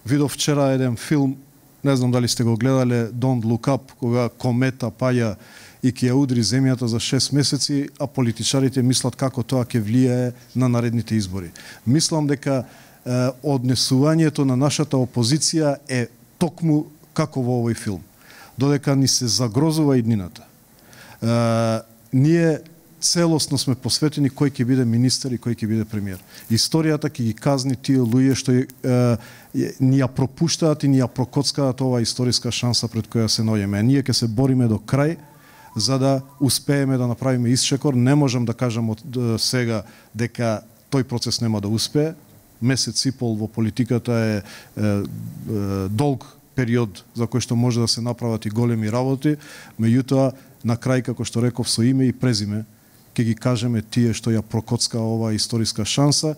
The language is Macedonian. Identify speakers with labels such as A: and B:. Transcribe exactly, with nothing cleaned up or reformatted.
A: видов вчера еден филм, не знам дали сте го гледале, Don't Look Up, кога комета паја и ќе ја удри земјата за шест месеци, а политичарите мислат како тоа ќе влијае на наредните избори. Мислам дека е, однесувањето на нашата опозиција е токму како во овој филм. Додека ни се загрозува иднината. Е, ние целосно сме посветени кој ќе биде министер и кој ќе биде премиер. Историјата ќе ги казни тие луѓе што е, е, ни ја пропуштаат и ни ја прокоцкаат оваа историска шанса пред која се наоѓаме. Ние ќе се бориме до крај за да успееме да направиме исчекор. Не можам да кажам од сега дека тој процес нема да успее. Месец и пол во политиката е, е, е долг период за кој што може да се направат и големи работи, меѓутоа на крај, како што реков, со име и презиме ќе ги кажеме тие што ја прокоцка оваа историска шанса